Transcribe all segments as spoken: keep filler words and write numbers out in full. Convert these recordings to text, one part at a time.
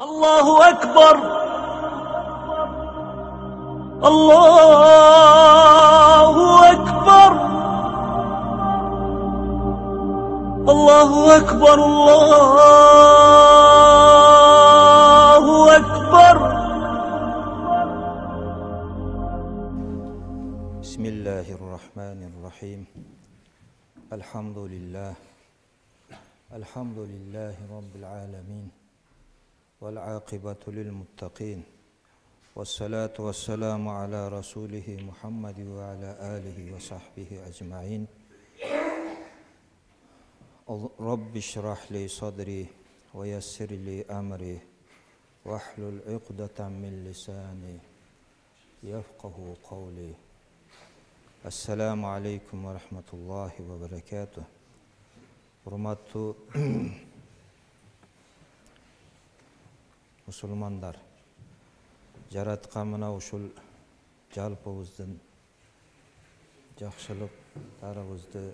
Allahu Ekber. Allahu Ekber. Allahu Ekber. Allahu Ekber. Bismillahirrahmanirrahim. Elhamdülillah. Elhamdülillahi Rabbil alemin. Vel aqibatu lil muttaqin. Vessalatu vesselamu ala Rasulihi Muhammed ve ala alihi ve sahbihi ecmain. Rabbi şrah li sadri ve yessir li amri ve ahlul uqdatan min lisani yefqahu kavli. Assalamu alaikum ve rahmetullahi ve berekatuh. Hurmatlı musulmanlar, jaratkan mına uşul jalpыбыздын жакшылыктарыбызды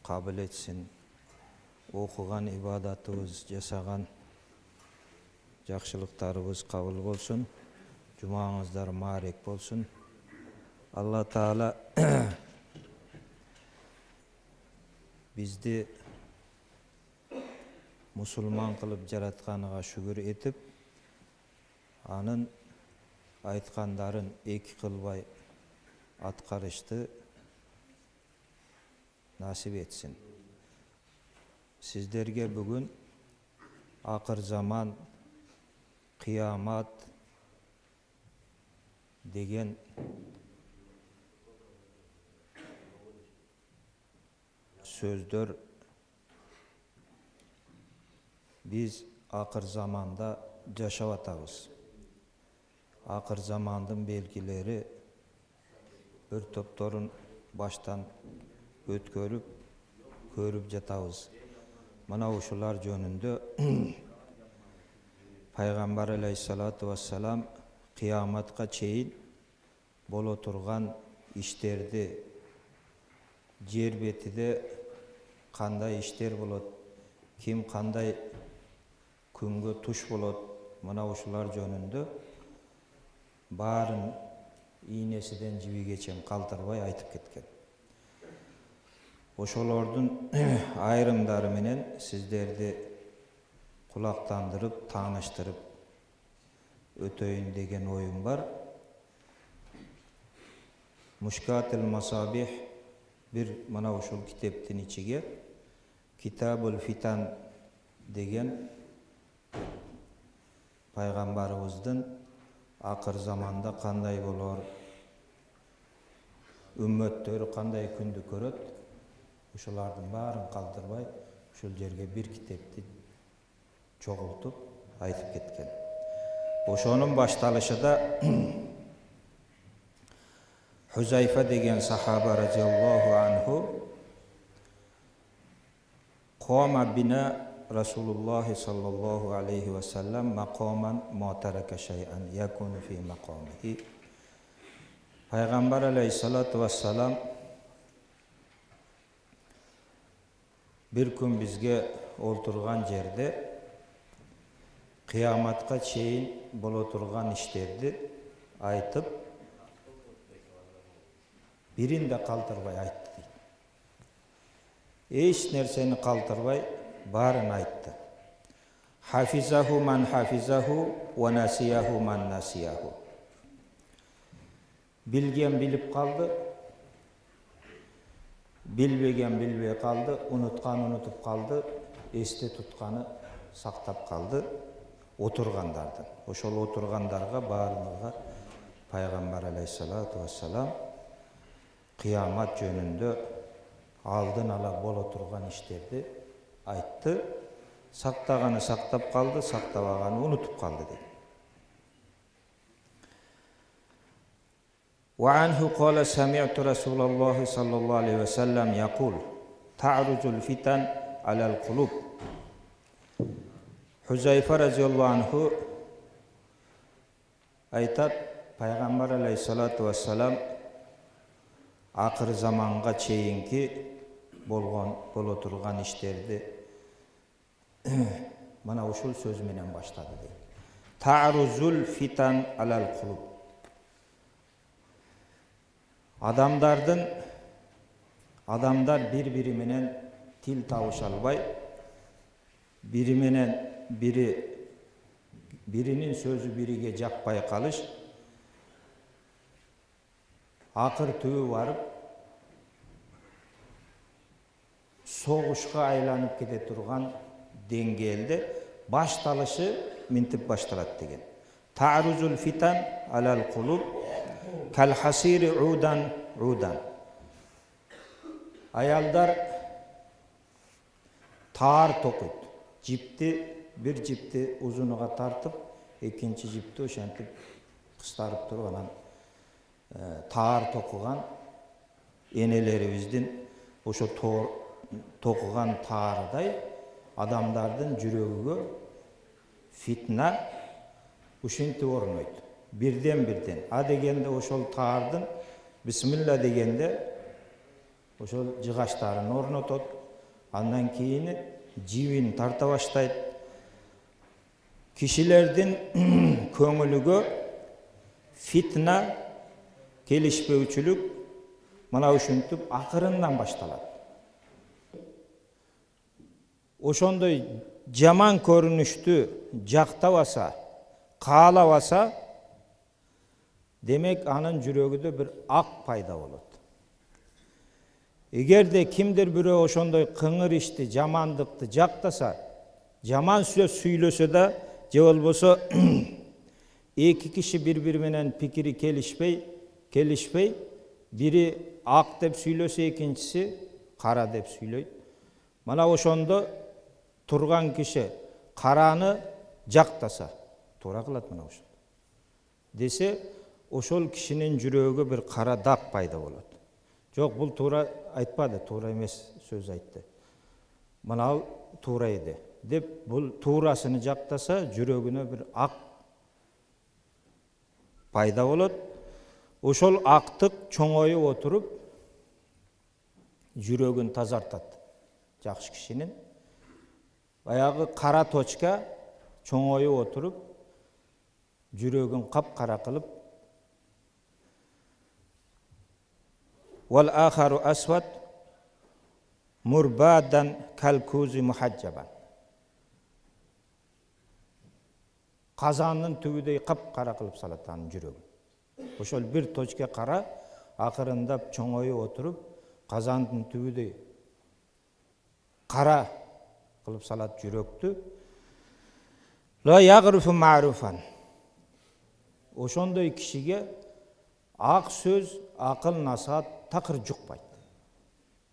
кабыл этсин, окуган ибадатыбыз, жасаган жакшылыктарыбыз кабыл болсун, жумаңыздар маарек болсун. Алла Таала бизди мусулман кылып жаратканыга шүгүр этип, анын айткандарын эки кылбай аткарышты насип этсин. Сиздерге бүгүн акыр заман, кыямат деген сөздөр биз акыр заманда жашап атабыз. Акыр замандын белгилери бир топторун баштан өткөрүп, көрүп жатабыз. Мына ушулар жөнүндө Пайгамбар алейхиссалату вассалам кыяматка чейин боло турган иштерди, жер бетиде кандай иштер болот, ким кандай күнгө туш болот, мына ушулар жөнүндө баарын ийнесиден жибиге чейин калтырбай айтып кеткен. Ошолордун айрымдары менен сиздерди кулактандырып, тааныштырып өтөйүн деген оюм бар. Мушкатул Масабих бир мына ушул китептин ичиге Китабул Фитан деген пайгамбарыбыздын акыр заманда кандай болор, үммөттөрү кандай күндү көрөт, ушулардын баарын калтырбай ушул жерге бир китепти чогултуп айтып кеткен. Ошонун башталышыда Хузайфа деген сахаба радиаллаху анху Кома бина Расулуллахи саллаллаху алейхи ва саллам мақаман ма тарака шай'ан якуну фи мақамихи. Пайгамбар алейхиссалату вассалам бир күн бизге олтурган жерде кыяматка чейин боло турган иштерди айтып, бирин да калтырбай айтты дейт. Эч нерсени калтырбай баарын айтты. Хафизаху ман хафизаху ва насияху ман насияху. Билген билип калды, билбеген билбей калды, унуткан унутуп калды, эсте тутканы сактап калды отургандардын. Ошол отургандарга баарынга Пайгамбар алейхиссалату вассалам кыямат жөнүндө алдын ала боло турган иштерди айтты. Сактаганы сактап калды, сактабаганы унутуп калды дейт. Ва анху кала сами'ту Расулаллахи саллаллаху алейхи ва саллам якул та'руджул фитан алал кулуб. Хузайфа радиаллаху анху айтат, Пайгамбар алейхиссалату вассалам акыр заманга чейинки болгон боло турган иштерди Mana ушул сөз менен баштады дейт. Ta'ruzul fitan alal qulub. Адамдардын адамдар бири-бири менен тил табыша албай, бири менен бири биринин сөзү бириге жакпай калыш, акыр түбү барып согушка айланып кете турган деңгээлде башталышы минтип башталат деген. Ta'ruzul fitan alal qulub kal hasiri udan udan. Аялдар таар токуйт. Жипти, бир жипти узунуга тартып, экинчи жипти ошентип кыстарып туруп анан таар токуган энелерибиздин ошо токуган таарыдай адамдардын жүрөгүгө фитна ушинтип орнойт. Бирден бирден. А дегенде ошол таардын бисмилла дегенде ошол жыгаштарын орнотот. Андан кийин жибин тарта баштайт. Кишилердин көңүлүгө фитна, келишпөөчүлүк мына ушинтип акырындан башталат. Ошондой жаман көрүнүштү жактабаса, каалабаса, демек анын жүрөгүндө бир ак пайда болот. Эгерде кимдир бирөө ошондой кыңыр ишти, жамандыкты жактаса, жаман сөз сүйлөсө да, же болбосо эки киши бири-бири менен пикири келишпей, келишпей, бири ак деп сүйлөсө, экинчиси кара деп сүйлөйт. Мана ошондо турган киши караны жактаса, туура кылат мына ошол. Десе, ошол кишинин жүрөгүгө бир кара дак пайда болот. Жок, бул туура айтпады, туура эмес сөз айтты. Мына ал туура эди деп, бул туурасыны жактаса, жүрөгүнө бир ак пайда болот. Ошол актык чоңоюп отуруп, жүрөгүн тазартат жакшы кишинин. Баягы кара точка чоңоюп отуруп, жүрөгүн кап-кара кылып, wal akharu aswad murbadan kalkuzi muhajjaban. Казандын түбүдөй кап-кара кылып салат анын жүрөгүн. Ошол бир точка кара акырындап чоңоюп отуруп, казандын түбүдөй кара кылып салат жүрөктү. La yaghrifu ma'rufan. Ошондой кишиге ак сөз, акыл насаат такыр жукпайт.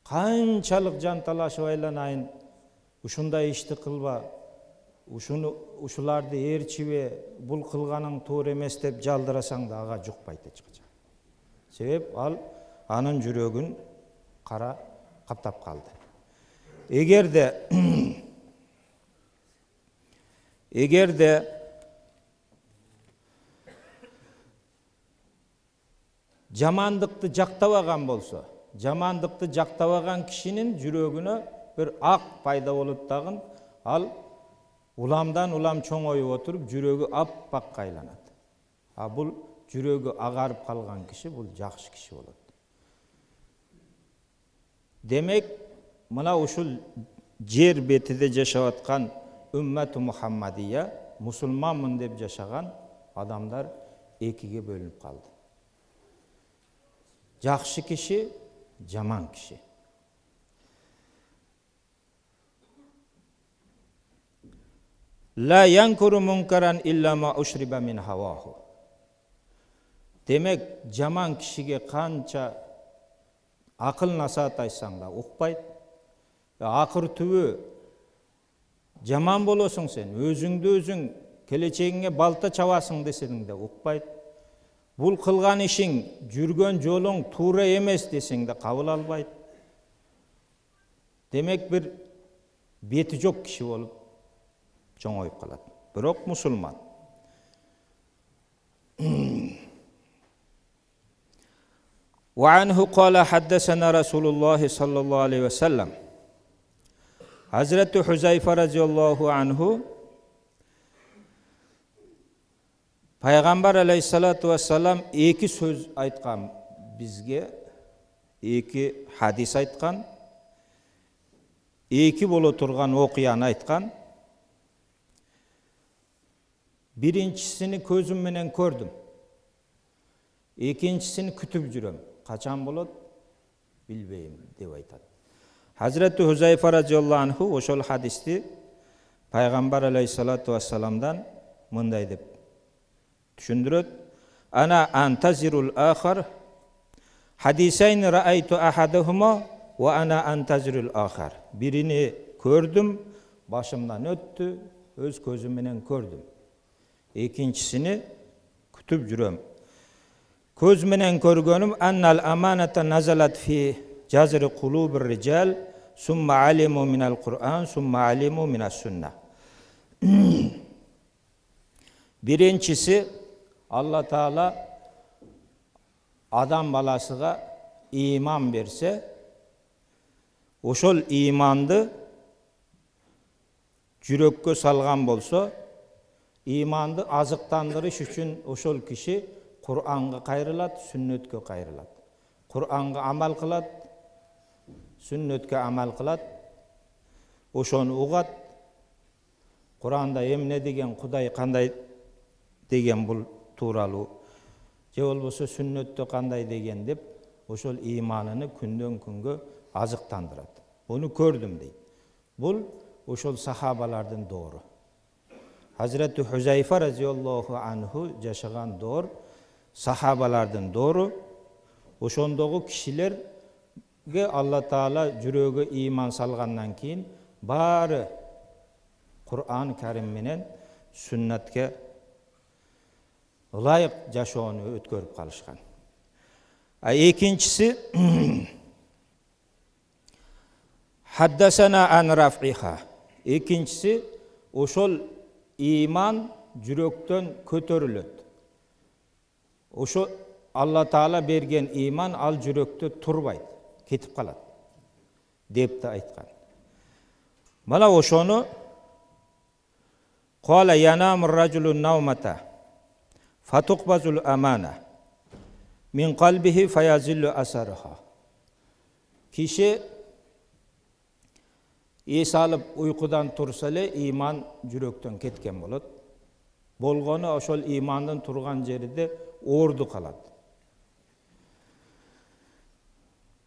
Канчалык жанталашып айланайын, ушундай ишти кылба, ушуну ушуларды ээрчибе, бул кылганың туура эмес деп жалдырасаң да ага жукпайт эч качан. Себеп ал анын жүрөгүн кара каптап калды. Эгерде эгерде жамандыкты жактабаган болсо, жамандыкты жактабаган кишинин жүрөгүнө бир ак пайда болот дагы, ал уламдан улам чоңоюп отуруп, жүрөгү аппакка айланат. А бул жүрөгү агарып калган киши бул жакшы киши болот. Демек, мына ушул жер бетиде жашап аткан уммату Мухаммадия, мусулманмын деп жашаган адамдар экиге бөлүнүп калды. Жакшы киши, жаман киши. La yankuru munkaran illa ma ushriba min hawahu. Демек, жаман кишиге канча акыл насаат айтсаң да укпайт. Акыр түбү жаман болосуң сен, өзүңдү өзүң келечегиңе балта чабасың десең да укпайт. Бул кылган ишиң, жүргөн жолуң туура эмес десең да кабыл албайт. Демек, бир бети жок киши болуп чоңоюп калат. Бирок мусулман. وعنه قال حدثنا رسول الله صلى الله عليه وسلم. Hazreti Huzayfa radhiyallahu anhu Пайгамбар алейхиссалату вассалам эки сөз айткан бизге, эки хадис айткан, эки боло турган окуяны айткан. Биринчисini көзүм менен көрдүм. Экинчисini күтүп жүрөм. Качан болот? Билбейм деп айтат. Hazreti Huzayfa radhiyallahu anhu ошол хадисти Пайгамбар алейхиссалату вассаламдан мындай деп түшүндүрөт. Ана антазирул ахар хадисайн раайту ахадахума ва ана антазирул ахар. Бирини көрдүм, башымдан өттү, өз көзүм менен көрдүм. Экинчисini күтүп жүрөм. Көз менен көргөнүм аннал аманата назалат фи жазри кулубир rijal summa alimu minal Qur'an summa alimu minas sunnah. Биринчиси Алла Таала адам баласыга иман берсе, ошол иманды жүрөккө салган болсо, иманды азыктандырыш үчүн ошол киши Кур'анга кайрылат, сүннөткө кайрылат. Кур'анга амал кылат, сүннөткө амал кылат, ошону угат. Кур'анда эмне деген, Кудай кандай деген бул тууралуу, же болбосо сүннөттө кандай деген деп, ошол иманыны күндөн күнгө азыктандырат. Буну көрдүм дейт. Бул ошол сахабалардын доору. Hazreti Huzayfa radhiyallahu anhu жашаган доор, сахабалардын доору. Ошондогу кишилерге Алла Таала жүрөгө иман салгандан кийин баары Кур'ан Карим менен сүннатке ылайык жашоону өткөрүп калышкан. А экинчиси Haddasana an raf'iha. Экинчиси ошол иман жүрөктөн көтөрүлөт. Ошо Алла Таала берген иман ал жүрөктө турбайт, кетип калат деп да айткан. Мана ошону Qala yanamur rajulun nawmata fatuqbazul amana min qalbihi fayazillu asarha. Kişi эс алып уйкудан турса эле иман жүрөктөн кеткен болот. Болгону ошол имандын турган жеринде орду калат.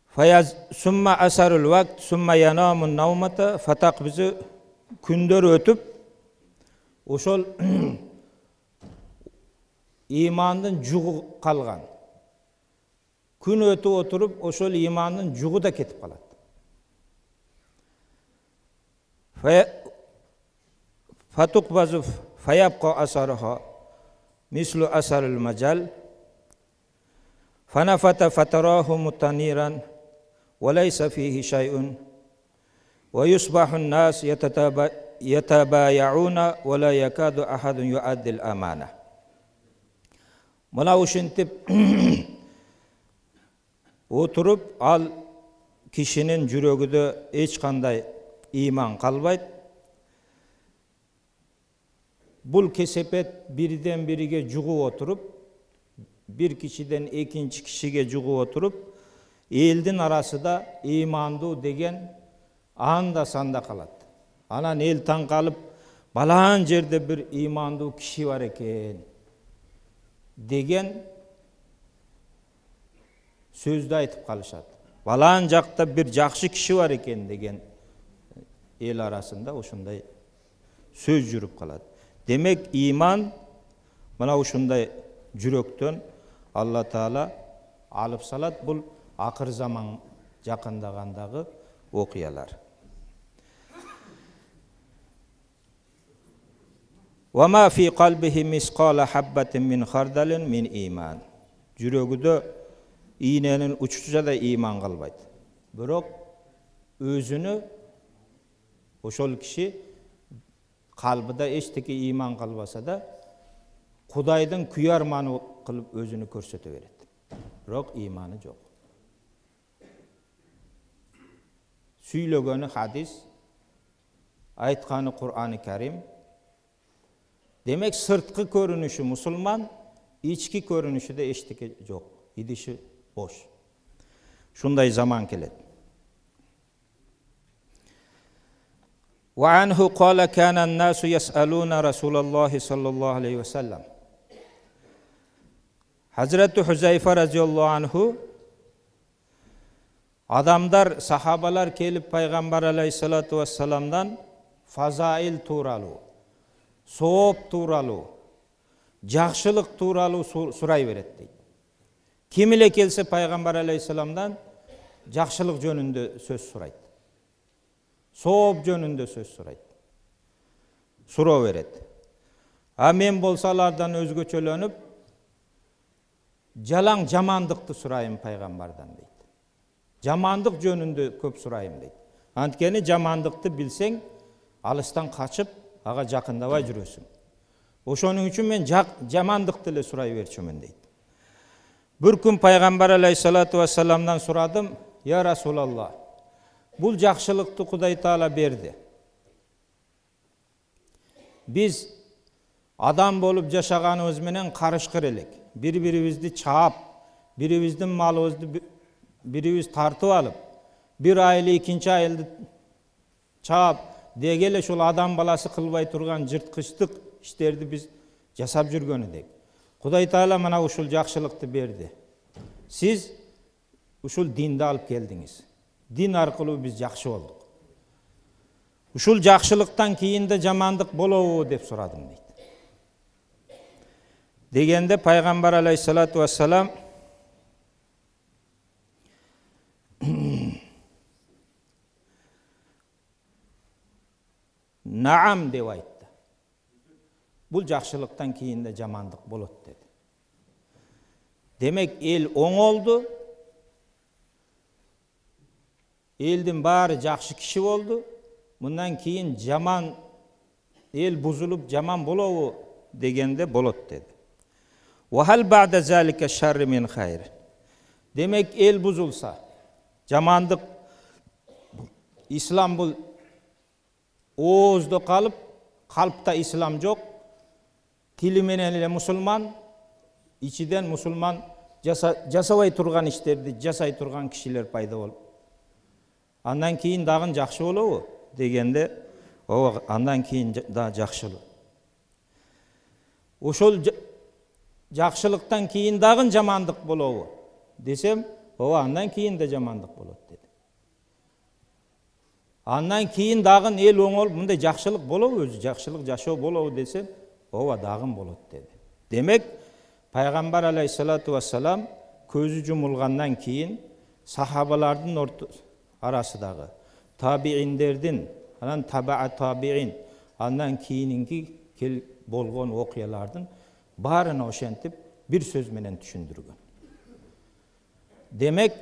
Fayaz summa asarul vaqt summa yanamun nawmata fataqbizu күндөр өтүп ошол имандын жугу калган. Күн өтүп отуруп ошол имандын жугу да кетип калат. Fatuqbazu fayabqa asarha mislu asaril majal fanafata fatarahu mutaniran wa laysa fihi shay'un wa yusbahu an-nas yatabaya'una wa la yakadu ahadun yu'addi al-amana. Mına uşintip oturup al kişinin жүрөгүдө эч кандай иман калбайт. Бул кесепет бирден бириге жугуп отуруп, бир кишиден экинчи кишиге жугуп отуруп, элдин арасында имандуу деген анда санда калат. Анан эл таң калып, балаан жерде бир имандуу киши бар экен деген сөздү айтып калышат. Балаан жакта бир жакшы киши бар экен деген эл арасында ошондой сөз жүрүп калат. Демек иман мына ушундай жүрөктөн Алла Таала алып салат. Бул акыр заман жакындагандагы окуялар. Wa ma fi qalbihi misqala habbatin min khardalin min iman. Жүрөгүдө ийненин учучу да иман калбайт. Бирок өзүнө ошол киши калбыда эчтеке иман калбаса да Кудайдын күйарманы кылып өзүнү көрсөтө берет. Бирок иманы жок. Сүйлөгөнү хадис, айтканы Кур'аны Карим, Демек сырткы көрүнүшү мусулман, ички көрүнүшүдө эчтеке жок, идиши бош. Шундай заман келет. Wa anhu qala kana an-nasu yas'aluna Rasulullah sallallahu aleyhi ve sellem. Hazreti Huzayfa radhiyallahu anhu adamlar, sahabalar kelip Peygamber aleyhissalatu vesselam'dan fazail tuuralu, sooп tuuralu, жакшылык тууралуу сурай берет дейт. Ким эле келсе Пайгамбар алейхиссаламдан жакшылык жөнүндө сөз сурайт. Сооп жөнүндө сөз сурайт. Суроо берет. А мен болсо алардан өзгөчөлөнүп, жалаң жамандыкты сурайм Пайгамбардан дейт. Жамандык жөнүндө көп сурайм дейт. Анткени жамандыкты билсең, алыстан качып, ага жакындабай жүрөсүң. Ошонун үчүн мен жамандыкты эле сурай берчүмүн дейт. Бир күн Пайгамбар алейхиссалату вассаламдан сурадым: "Я Расулалла, бул жакшылыкты Кудай Таала берди. Биз адам болуп жашаганыбыз менен карышкыр элек. Бири-бирибизди чаап, бирибиздин малыбызды бирибиз тартып алып, бир айыл экинчи айылды чаап, деги эле ушул адам баласы кылбай турган жырткычтык иштерди биз жасап жүргөн эдик. Кудай Таала мына ушул жакшылыкты берди. Сиз ушул динди алып келдиңиз. Дин аркылуу биз жакшы болдук. Ушул жакшылыктан кийин да жамандык болобу деп сурадым" дейт. Дегенде Пайгамбар алейхиссалату вассалам "Наам" деп айтты. Бул жакшылыктан кийин да жамандык болот деди. Демек эл оңолду. Элдин баары жакшы киши болду. Мындан кийин жаман эл бузулуп жаман болобу дегенде болот деди. Wa hal ba'da zalika sharr min khair. Демек эл бузулса, жамандык, ислам бул ооздо калып, калпта ислам жок. Тили менен эле мусулман, ичиден мусулман жасабай турган иштерди жасай турган кишилер пайда болуп, андан кийин дагы жакшы болобу дегенде, ооба, андан кийин да жакшы. Ошол жакшылыктан кийин дагы жамандык болобу десем, ооба, андан кийин да жамандык болот деди. Андан кийин дагы эл оңолуп, мындай жакшылык болобу, өзү жакшылык жашоо болобу десем, ооба, дагы болот деди. Демек Пайгамбар алейхиссалату вассалам көзү жумулгандан кийин сахабалардын арасындагы табииндердин, анан таба табиин, андан кийинки болгон окуялардын баарына ошентип бир сөз менен түшүндүргөн. Демек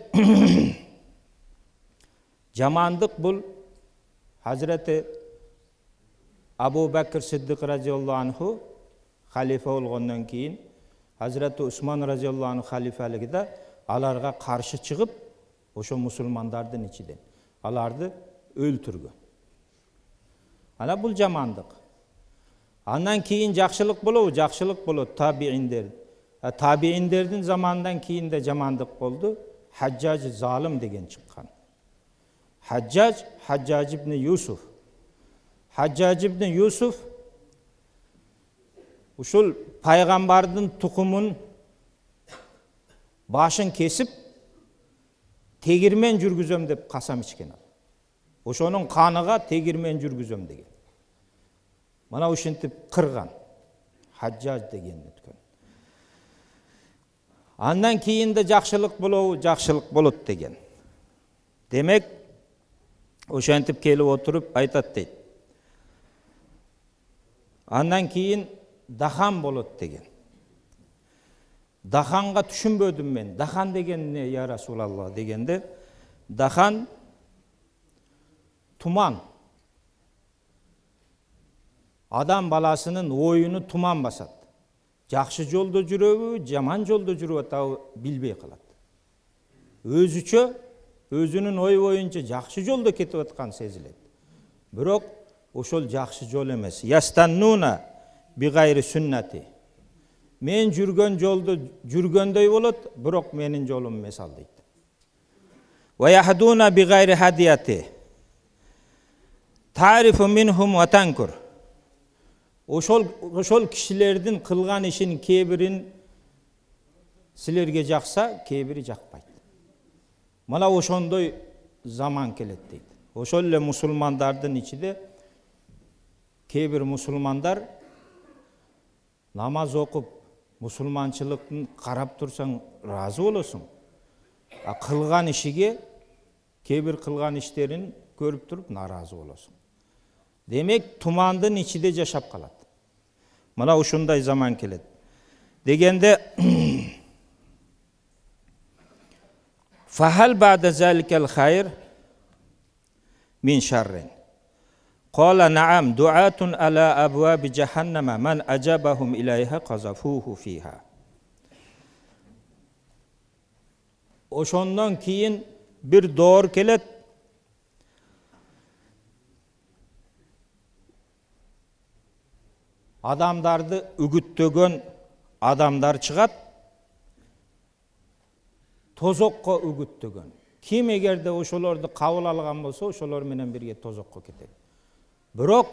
жамандык бул Hazreti Abu Bakr Siddiq radhiyallahu anhu халифа болгондон кийин Hazreti Usman radhiyallahu anhu халифалыгында аларга каршы чыгып, ошо мусулмандардын ичинен аларды өлтүргөн. Ана бул жамандык. Андан кийин жакшылык болобу? Жакшылык болот табииндер. Табииндердин заманынан кийин да жамандык болду. Хаджаж залым деген чыккан. Хаджаж, Хаджаж ибн Юсуф. Хаджаж ибн Юсуф ушул пайгамбардын тукумун башын кесип тегирмен жүргүзөм деп касам ичкен. Ошонун каныга тегирмен жүргүзөм деген. Мана ушинтип кырган. Хаджаж деген өткөн. Андан кийин да жакшылык болобу? Жакшылык болот деген. Демек ошентип келип отуруп айтат дейт. Андан кийин дахан болот деген. Даханга түшүнбөдүм мен. Дахан деген эмне я Расулалла дегенде, дахан туман. Адам баласынын оюну туман басат. Жакшы жолдо жүрөбү, жаман жолдо жүрүп атабы билбей калат. Өзүчө, өзүнүн ой боюнча жакшы жолдо кетип аткан сезилет. Бирок ошол жакшы жол эмес. Ястаннуна bi gayri sünnati. Men жүргөн жолду жүргөндөй болот, бирок менин жолум эмес ал дейт. Wa yahduna bi gayri hadiyati. Ta'rifu minhum wa tankur. Ошол ошол кишилердин кылган ишин кээ-бирин силерге жакса, кээ-бири жакпайт. Мына ошондой заман келет дейт. Ошол эле мусулмандардын ичинде кээ-бир мусулмандар намаз окуп, мусулманчылыктын карап турсаң ыраазы болосуң. А кылган ишиге, кээ-бир кылган иштерин көрүп туруп нааразы болосуң. Демек, тумандын ичинде жашап калат. Мына ушундай заман келет. Дегенде Фахал ба'да заликал хайр мин шаррин. Qala na'am du'atun ala abwabi jahannama man ajabahum ilayha qazafuhu fiha. Ошондон кийин бир доор келет. Адамдарды үгүттөгөн адамдар чыгат. Тозокко үгүттөгөн. Ким эгерде ошолорду кабыл алган болсо, ошолор менен бирге тозокко кетет. Бирок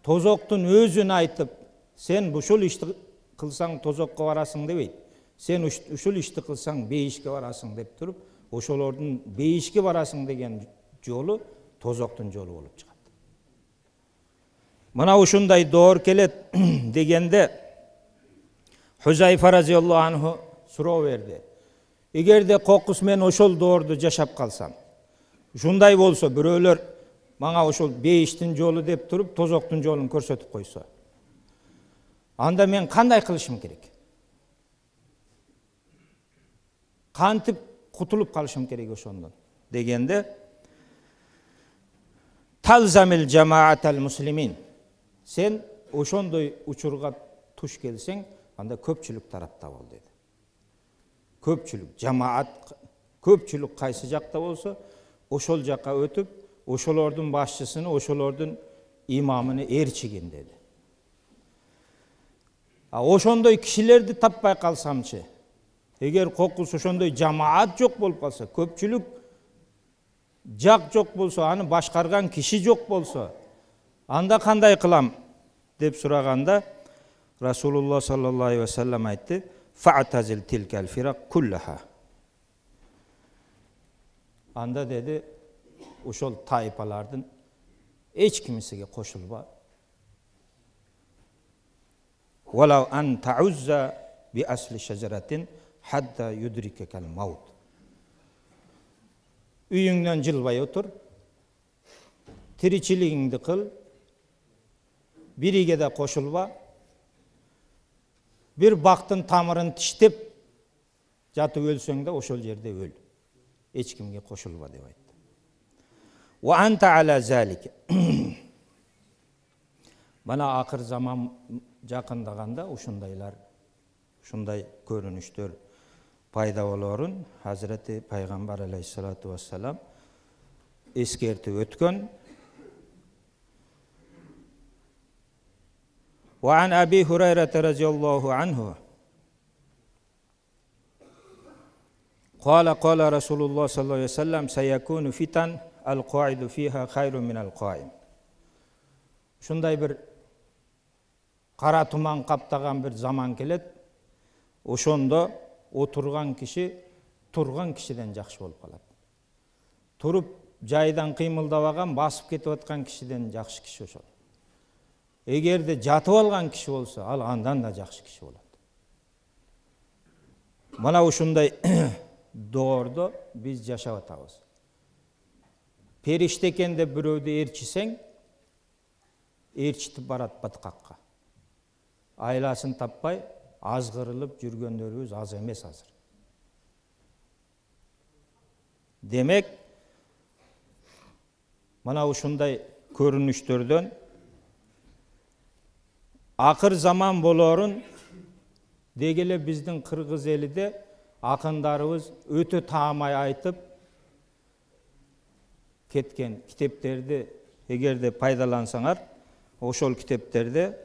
тозоктун өзүн айтып, сен ушул ишти кылсаң тозокко барасың дебейт. Сен ушул ишти кылсаң бейишке барасың деп туруп, ошолордун бейишке барасың деген жолу тозоктун жолу болуп чыгат. Мына ушундай доор келет дегенде Хузайфа разияллаху анху суроо берди. Эгерде кокус мен ошол доорду жашап калсам, ушундай болсо бирөөлөр мага ошол бейиштин жолу деп туруп тозоктун жолун көрсөтүп койсо, анда мен кандай кылышым керек? Кантип кутулуп калышым керек ошондон? Дегенде талзамил жамаатал муслимин. Сен ошондой учурга туш келсең, анда көпчүлүк тарапта бол деди. Көпчүлүк, жамаат, көпчүлүк кайсы жакта болсо, ошол жакка өтүп, ошолордун башчысыны, ошолордун имамыны ээрчигин деди. А ошондой кишилерди таппай калсамчы, эгер кокус ошондой жамаат жок болуп калса, көпчүлүк жак жок болсо, аны башкарган киши жок болсо, анда кандай кылам деп сураганда Расулуллах саллаллаху алейхи ва саллям айтты: "Фa'тазил тилкал фирак куллаха." Анда деди, ошол тайпалардын эч кимисиге кошулба. "Валау ан та'узза би асли шажаратин хатта юдрикакал маут." Үйүңдөн жылбай отур, тиричилигиңди кыл, бириге да кошулба. Bir бактын тамырын тиштеп жатып өлсөң да ошол жерде өл. Эч кимге кошулба деп айтты. Ва анта ала залик. Мана акыр заман жакындаганда ушундайлар, ушундай көрүнүштөр пайда болорун Hazreti Пайгамбар алейхиссалату вассалам эскертип өткөн. وعن أبي هريرة رضي الله عنه قال قال رسول الله صلى الله عليه وسلم سيكون فتن القاعد فيها خير من القائم. Шундай бир кара туман каптаган бир заман келет. Ошондо отурган киши турган кишиден жакшы болуп калат. Туруп жайдан кыймылдабаган, басып кетип аткан кишиден жакшы киши ошол. Эгерде жатып алган киши болсо, ал андан да жакшы киши болот. Мана ушундай доордо биз жашап атабыз. Периште экен деп бирөөдү ээрчисең, ээрчитип барат баткакка. Айласын таппай, азгырылып жүргөндөрүбүз аз эмес азыр. Демек, мана ушундай көрүнүштөрдөн акыр заман болорун дегеле биздин кыргыз элиде акындарыбыз өтө таамай айтып кеткен китептерди эгерде пайдалансаңар, ошол китептерде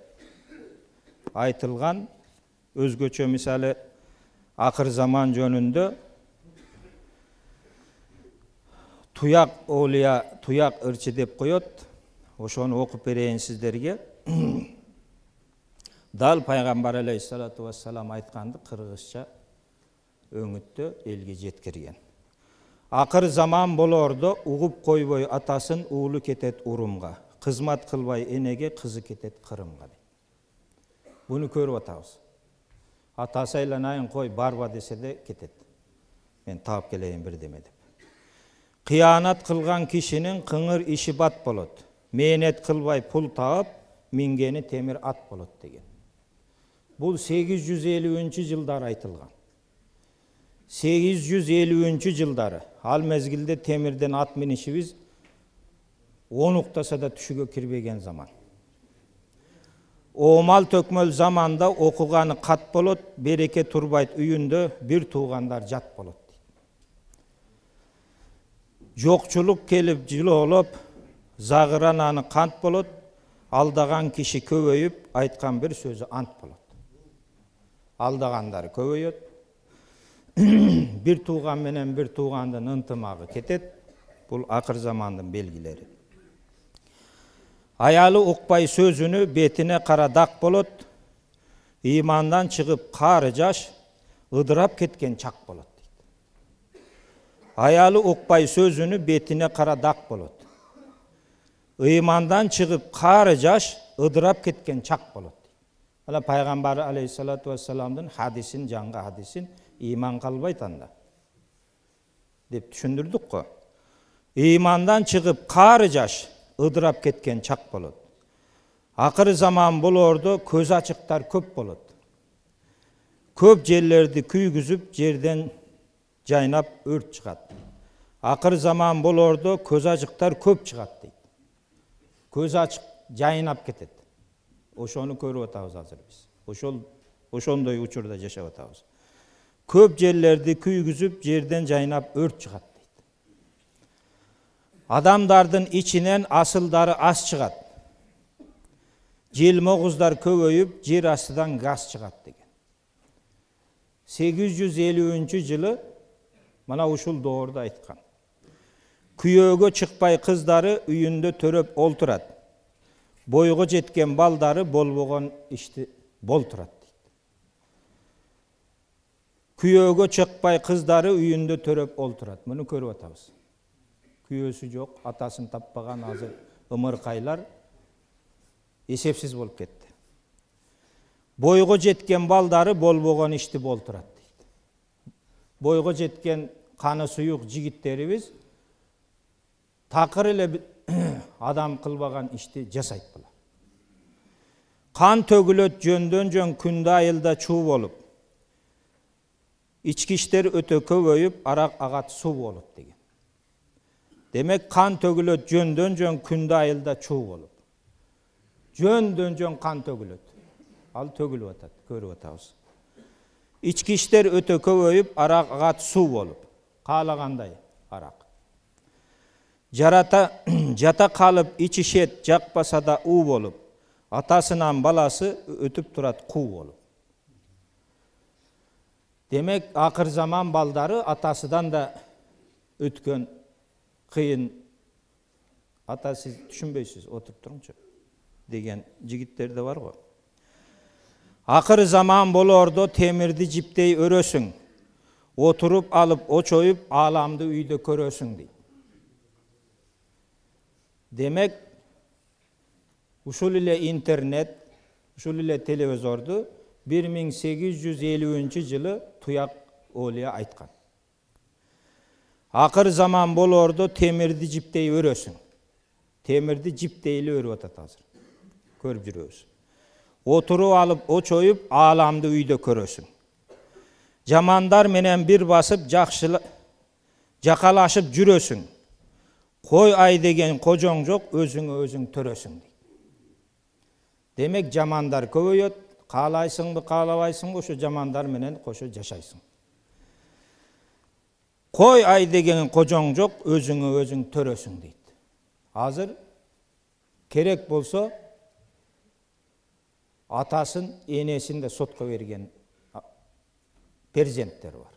айтылган. Өзгөчө мисалы акыр заман жөнүндө туяк олия, туяк ырчы деп коет. Ошону окуп берейин сиздерге. Дал пайгамбар алейхиссалату вассалам айтканды кыргызча өңүттө элге жеткирген. Акыр заман болордо угуп койбой атасын, уулу кетет урумга. Кызмат кылбай энеге, кызы кетет Кырымга. Буну көрүп атабыз. Атасы айланайын кой, барба десе де кетет. Мен таап келейин бирдеме деп. Кыянат кылган кишинин кыңыр иши бат болот. Мээнет кылбай пул таап, мингени темир ат болот деген. Бул сегиз жүз элүүнчү жылдары айтылган. сегиз жүз элүүнчү жылдары. Ал мезгилде темирден ат минишибиз он уктаса да түшүгө кирбеген заман. Оомал төкмөл заманда окуганы кат болот, береке турбайт үйүндө, бир туугандар жат болот. Жокчулук келип жылоолоп, загырананы кант болот, алдаган киши көбөйүп, айткан бир сөзү ант болот. Алдагандар көбөйөт, бир тууган менен бир туугандын ынтымагы кетет. Бул акыр замандын белгилери. Аялы укпай сөзүнү, бетине кара дак болот. Ыймандан чыгып кары жаш, ыдырап кеткен чак болот. Аялы укпай сөзүнү, бетине кара дак болот. Ыймандан чыгып кары жаш, ыдырап кеткен чак болот. Ала пайгамбар алейхиссалату вассаламдын хадисин, жаңгы хадисин ыйман калбайт анда деп түшүндүрдүк го. Ыймандан чыгып кары жаш, ыдырап кеткен чак болот. Акыр заман болордо көз ачыктар көп болот. Көп жерлерди күйгүзүп, жерден жайнап өрт чыгат. Акыр заман болордо көз ачыктар көп чыгат дейт. Көз ачык жайнап кетет. Ошону көрүп атабыз азыр биз. Ошол ошондой учурда жашап атабыз. Көп жерлерди күйгүзүп, жерден жайнап өрт чыгат дейт. Адамдардын ичинен асылдары аз чыгат. Желмогуздар көбөйүп, жер астыдан газ чыгат деген. сегиз жүз элүүнчү жылы мына ушул доордо айткан. Күйөөгө чыкпай кыздары үйүндө төрөп олтурат. Бойго жеткен балдары болбогон ишти болтурат дейт. Күйөөгө чыкпай кыздары үйүндө төрөп олтурат. Муну көрүп атабыз. Күйөөсү жок, атасын таппаган азыр ымыркайлар эсепсиз болуп кетти. Бойго жеткен балдары болбогон ишти болтурат дейт. Бойго жеткен каны суюк жигиттерибиз такыр эле адам кылбаган ишти жасайт булар. Кан төгүлөт жөндөн жөн, күндө айылда чуу болуп. Ички иштер өтө көбөйүп, арак агат суу болот деген. Демек кан төгүлөт жөндөн жөн, күндө айылда чуу болуп. Жөндөн жөн кан төгүлөт. Ал төгүлүп атат, көрүп атабыз. Ички иштер өтө көбөйүп, арак агат суу болуп. Каалагандай арак. Жарата жата калып ичишет, жакпаса да уу болуп. Атасынан баласы өтүп турат куу болуп. Демек акыр заман балдары атасыдан да өткөн кыйын. Ата сиз түшүнбөйсүз, отуруп туруңчу деген жигиттер да бар го. Акыр заман болордо темирди жиптей өрөсүң. Отуруп алып очоюп, ааламды үйдө көрөсүң дейт. Демек, ушул эле интернет, ушул эле телевизорду бир миң сегиз жүз элүүнчү жылы Туяк Олия айткан. Акыр заман болордо темирди жиптей өрөсүң. Темирди жиптейли өрүп атат азыр. Көрүп жүрөбүз. Отуруп алып очоюп, ааламды үйдө көрөсүң. Жамандар менен бир басып, жакшылы жакалашып жүрөсүң. Кой ай деген кожоң жок, өзүңө өзүң төрөсүң дейт. Демек жамандар көбөйөт, каалайсыңбы, каалабайсыңбы, ошо жамандар менен кошо жашайсың. Кой ай деген кожоң жок, өзүңө өзүң төрөсүң дейт. Азыр керек болсо атасын, энесин да сотко берген перзенттер бар.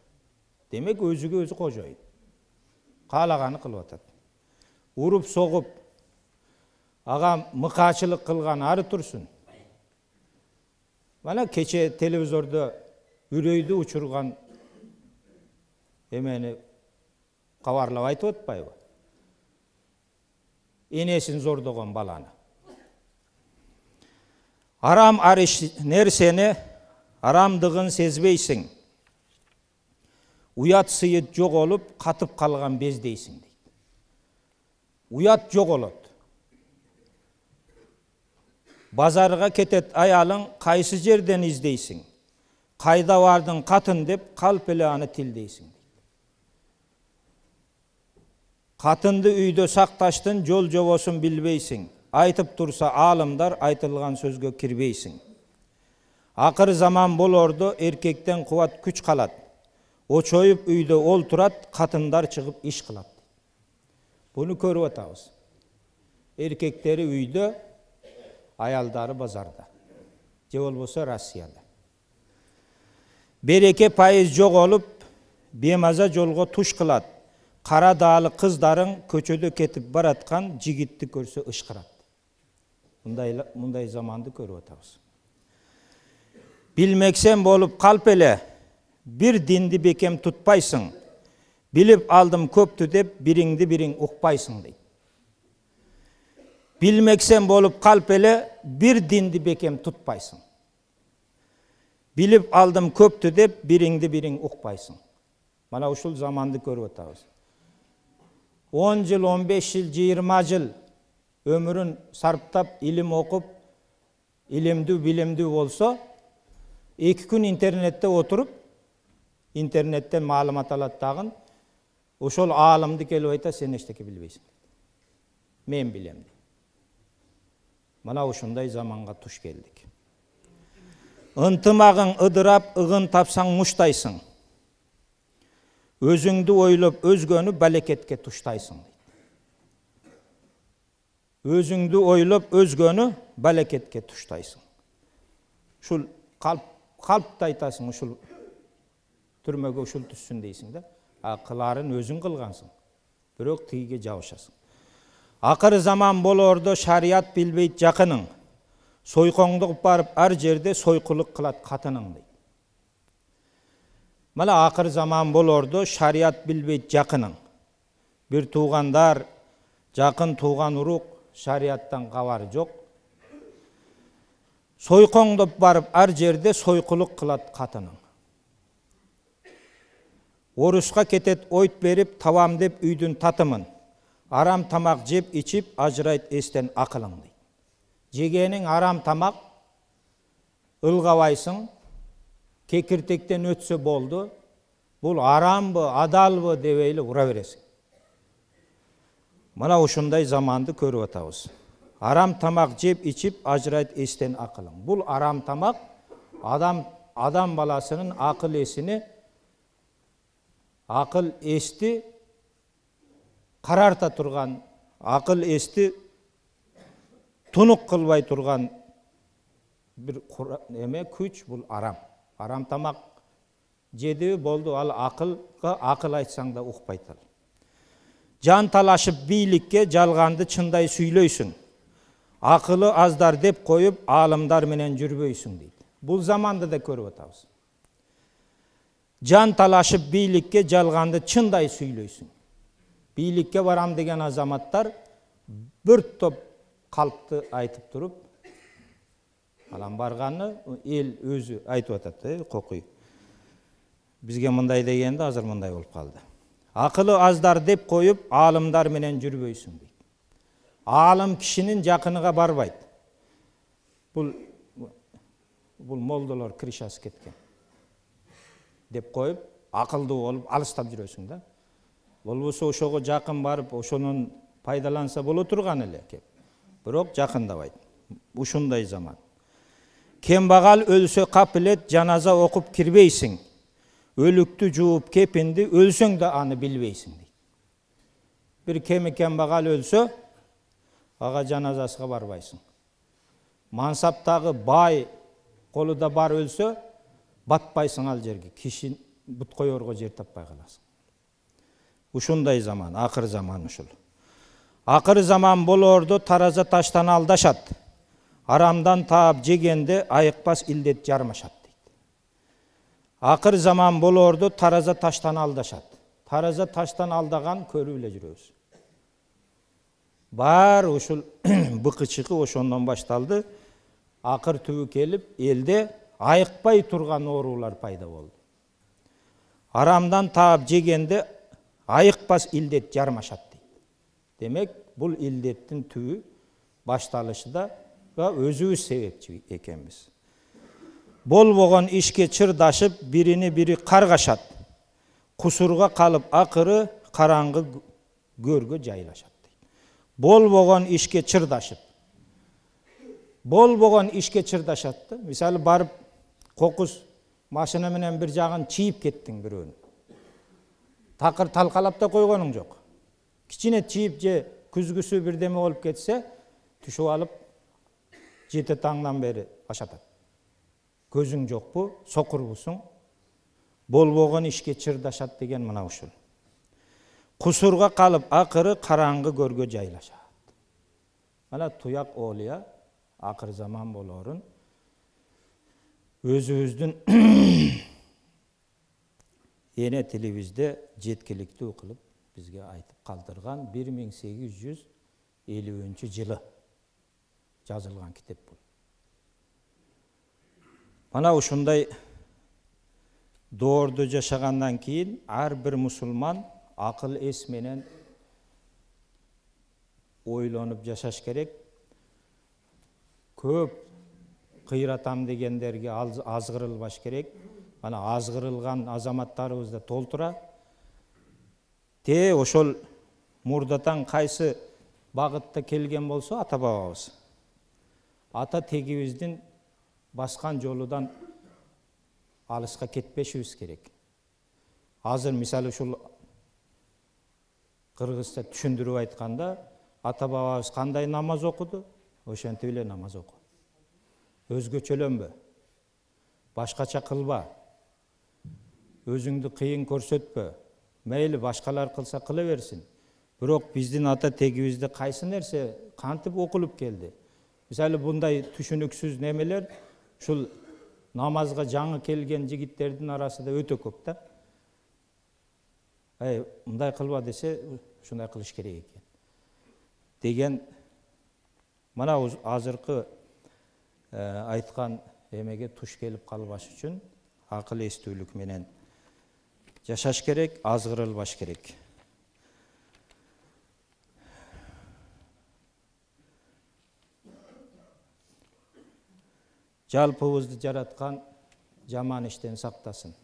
Демек өзүгө өзү кожоюн. Каалаганы кылып атат. Уруп согуп, ага мыкаачылык кылган ары турсун. Мана кече телевизордо үрөйдү учурган эмени кабарлап айтып атпайбы? Энесин зордогон баланы. Арам ариш нерсени арамдыгын сезбейсиң. Уят сыйыт жоголуп, катып калган бездейсиң дейт. Уят жоголот. Базарга кетет аялың, кайсы жерден издейсиң? Кайда бардың катын деп, калп эле аны тилдейсиң. Катынды үйдө сакташтын, жол жобосун билбейсиң. Айтып турса аалымдар, айтылган сөзгө кирбейсиң. Акыр заман болордо эркектен кубат күч калат. Очоюп үйдө олтурат, катындар чыгып иш кылат. Буну көрүп атабыз. Эркектери үйдө, аялдары базарда. Же болбосо Россияда. Береке пайыз жоголуп, бемаза жолго туш кылат. Кара даалы кыздарың көчөдө кетип бараткан жигитти көрсө ышкырат. Мындай мындай заманды көрүп атабыз. Билмексен болуп калп эле, бир динди бекем тутпайсың. Билип алдым көптү деп, бириңди бириң укпайсың дейт. Билмексен болуп калп эле, бир динди бекем тутпайсың. Билип алдым көптү деп, бириңди бириң укпайсың. Мана ушул заманды көрүп атабыз. он жыл, он беш жыл, жыйырма жыл өмүрүн сарптап, илим окуп, илимдүү, билимдүү болсо, эки күн интернетте отуруп, интернеттен маалымат алат дагы, ошол аалымды келип айта, сен эчтеке билбейсиң. Мен билем. Мана ушундай заманга туш келдик. Ынтымагың ыдырап, ыгын тапсаң муштайсың. Өзүңдү ойлоп, өзгөнү балекетке туштайсың. Өзүңдү ойлоп, өзгөнү балекетке туштайсың. Ушул калп, калпты айтасың, ушул түрмөгө ушул түссүн дейсиң да. А кыларын өзүң кылгансың. Бирок тигиге жабышасың. Акыр заман болордо шарият билбейт жакының. Сойкоңдук барып ар жерде сойкулук кылат катының дейт. Мана акыр заман болордо шарият билбейт жакының. Бир туугандар, жакын тууган урук шарияттан кабары жок. Сойкоңдоп барып ар жерде сойкулук кылат катының. Оруска кетет ойт берип, табам деп үйдүн татымын. Арам тамак жеп ичип, ажырайт эстен акылың дейт. Жегениң арам тамак, ылгабайсың, кекиртектен өтсө болду, бул арамбы, адалбы дебейли ура бересиң. Мана ушундай заманды көрүп атабыз. Арам тамак жеп ичип, ажырайт эстен акылың. Бул арам тамак адам адам баласынын акыл эсини, акыл эсти карарта турган, акыл эсти тунук кылбай турган бир эме күч, бул арам. Арам тамак жеди болду, ал акылга акыл айтсаң да укпайт ал. Жан талашып бийликке, жалганды чындай сүйлөйсүң. Акылы аздар деп коюп, аалымдар менен жүрбөйсүң дейт. Бул заманды да көрүп атабыз. Жан талашып бийликке, жалганды чындай сүйлөйсүң. Бийликке барам деген азаматтар бир топ калпты айтып туруп, алам барганы эл өзү айтып атат, э, кокуй. Бизге мындай дегенде азыр мындай болуп калды. Акылы аздар деп коюп, аалымдар менен жүрбөйсүң дейт. Аалым кишинин жакыныга барбайт. Бул бул молдолор кришасы кеткен деп коюп, акылдуу болуп алыстап жүрөсүң да. Болбосо ошого жакын барып, ошонун пайдаланса боло турган эле кеп. Бирок жакындабайт. Ушундай заман. Кембагал өлсө капилет, жаназа окуп кирбейсиң. Өлүктү жууп кепинди, өлсөң да аны билбейсиң дейт. Бир кеми кембагал өлсө, ага жаназасына барбайсың. Мансаптагы бай колуда бар өлсө батпайсың ал жерге, киши бут коерго жер таппай каласың. Ушундай заман, акыр заман ушул. Акыр заман болорду тараза таштан алдашат. Арамдан таап жегенде айыкпас илдет жармашат дейт. Акыр заман болорду тараза таштан алдашат. Тараза таштан алдаган көрүп эле жүрөбүз. Бар ушул быкычыкы ошондон башталды. Акыр түбү келип, элде айыкпай турган оорулар пайда болду. Арамдан таап жегенде айыкпас илдет жармашат дейт. Демек, бул илдеттин түбү башталышында өзүбүз себепчи экенбиз. Болбогон ишке чырдашып, бирини бири каргашат. Кусурга калып акыры караңгы көргө жайлашат дейт. Болбогон ишке чырдашып. Болбогон ишке чырдашат да. Мисалы барып кокус машина менен бир жагын чийип кеттиң бирөөнү. Такыр талкалап да койгонуң жок. Кичине чийип же күзгүсү бирдеме болуп кетсе, түшүп алып жети таңдан бери ашатат. Көзүң жокпу, сокурбусуң? Болбогон ишке чырдашат деген мына ушул. Кусурга калып акыры караңгы көргө жайлашат. Мына туяк оолуя акыр заман болорун өзүбүздүн эне тилибизде жеткиликтүү кылып бизге айтып калтырган бир миң сегиз жүз элүүнчү жылы жазылган китеп бул. Мана ушундай доордо жашагандан кийин ар бир мусулман акыл эс менен ойлонуп жашаш керек. Көп кыйратам дегендерге азгырылбаш керек. Мана азгырылган азаматтарыбыз да толтура. Те ошол мурдатан кайсы багытта келген болсо ата бабабыз. Ата тегибиздин баскан жолудан алыска кетпешибиз керек. Азыр мисалы ушул кыргызча түшүндүрүп айтканда, ата бабабыз кандай намаз окуду, ошентип эле намаз оку. Өзгөчөлөнбө. Башкача кылба. Өзүңдү кыйын көрсөтпө. Мейли башкалар кылса кыла берсин. Бирок биздин ата тегибизде кайсы нерсе кантип окулуп келди? Мисалы мындай түшүнүксүз немелер ушул намазга жаңы келген жигиттердин арасында өтө көп да. Ай, мындай кылба десе, ушундай кылыш керек экен. Деген мына азыркы айткан эмеге туш келип калбаш үчүн акыл эстүүлүк менен жашаш керек, азгырылбаш керек. Жалпыбызды жараткан жаман иштен сактасын.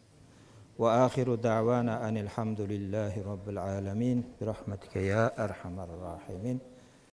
Ва ахиру дa'wana anil hamdulillahi rabbil alamin bi rahmatika ya arhamar rahimin.